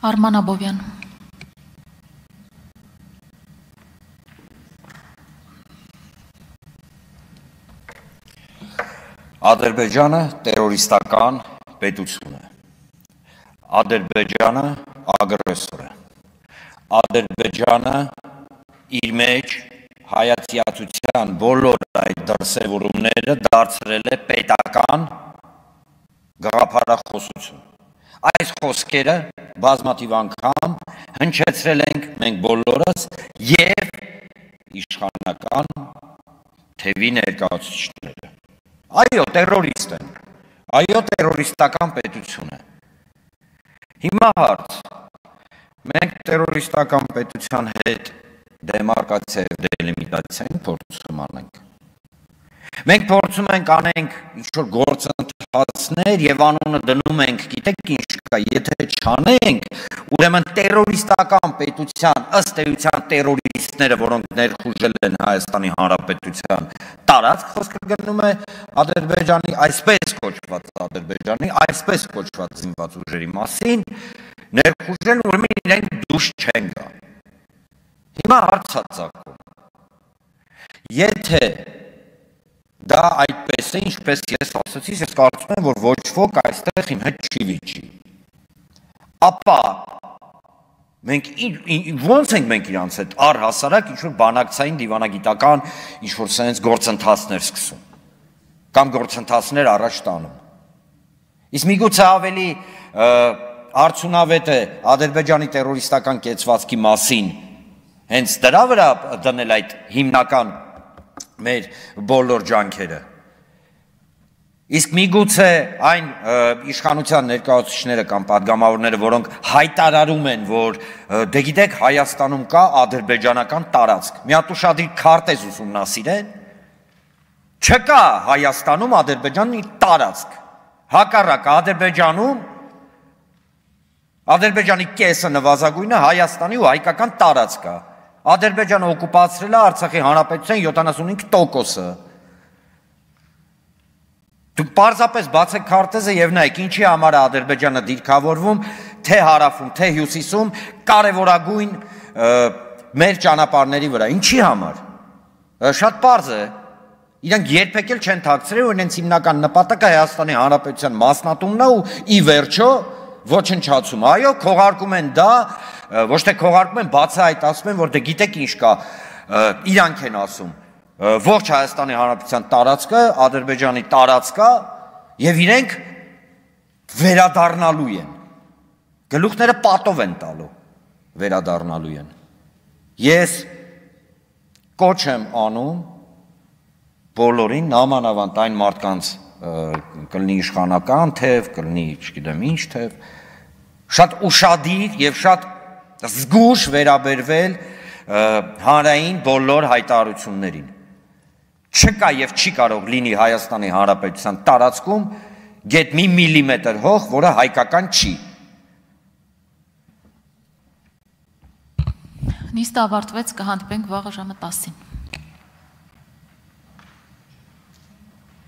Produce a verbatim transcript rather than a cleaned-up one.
Արման Աբովյան։ Ադրբեջանը տերորիստական պետություն է, Ադրբեջանը ագրեսոր է, Ադրբեջանը իր մեջ հայացիացության բոլոր այդ դրսևորումները դարձրել է պետական գաղափարախոսություն։ Այս խոսքերը բազմաթիվ անգամ հնչեցրել ենք մենք բոլորս եւ իշխանական թևի ներկայացուցիչները։ Այո, տերորիստ են, այո, տերորիստական պետություն է։ Հիմա հարց, մենք տերորիստական պետության հետ դեմարկացիա եւ դելիմիտացիա փորձում անենք։ Մենք փորձում ենք անենք ինչ-որ գործընթացներ եւ անունը դնում ենք, գիտեք ինչ կա, եթե չանենք, ուրեմն տերորիստական պետության ըստ էության տերորիստները, որոնք ներխուժել են Հայաստանի Հանրապետության տարածք, խոսքը գնում է Ադրբեջանի այսպես կոչված Ադրբեջանի այսպես կոչված զինված ուժերի մասին, ներխուժել, ուրեմն իրենք դուրս չեն գա։ Հիմա հարց է ծագում։ Եթե դա այդպես է, ինչպես ես ասացի, ես կարծում եմ, որ ոչ ոք այստեղ իմ հետ չի վիճի։ Ապա մենք ոնց ենք մենք իրանց հետ առհասարակ ինչ-որ բանակցային դիվանագիտական ինչ-որ սենց գործընթացներ սկսում, կամ գործընթացներ առաջ տանում։ Իսկ միգուցե ավելի արդյունավետ է Ադրբեջանի տերորիստական կեցվածքի մասին հենց դրա վրա դնել այդ հիմնական մեր բոլոր ջանքերը։ Իսկ միգուցե այն իշխանության ներկայացուցիչները կամ պատգամավորները, որոնք հայտարարում են, որ դե գիտեք Հայաստանում կա ադրբեջանական տարածք, մի հատ ուշադիր քարտեզ ուսումնասիրեն, չկա Հայաստանում Ադրբեջանի տարածք, հակառակը Ադրբեջանում Ադրբեջանի կեսը նվազագույնը Հայաստանի ու հայկական տարածք է։ Ադրբեջանը օկուպացրել է Արցախի հանրապետության յոթանասունհինգ տոկոսը։ Դուք պարզապես բացեք քարտեզը եւ նայեք, ինչի համար է Ադրբեջանը դիրքավորվում, թե հարավում, թե հյուսիսում, կարևորագույն մեր ճանապարհների վրա։ Ինչի համար։ Շատ պարզ է։ Իրանք երբեք էլ չեն թաքցրել, որ իրենց հիմնական նպատակը Հայաստանի հանրապետության մասնատումն է ու ի վերջո ոչնչացում։ Այո, քողարկում են դա, ոչ թե քողարկում են, բացի այդ ասում են, որ դե գիտեք ինչ կա, իրանք են ասում, ողջ Հայաստանի Հանրապետության տարածքը Ադրբեջանի տարածք է եւ իրենք վերադառնալու են։ Գլուխները պատով են տալու, վերադառնալու են։ Ես կոչ եմ անում բոլորին, նամանավանդ այն մարդկանց կլինի իշխանական թև, կլինի չգիտեմ ինչ թև, շատ ուշադիր եւ շատ զգուշ վերաբերվել հանրային բոլոր հայտարարություններին։ Չկա եւ չի կարող լինի Հայաստանի Հանրապետության տարածքում գեթ մի միլիմետր հող, որը հայկական չի։ Նիստը ավարտվեց, կհանդիպենք վաղը ժամը տասին։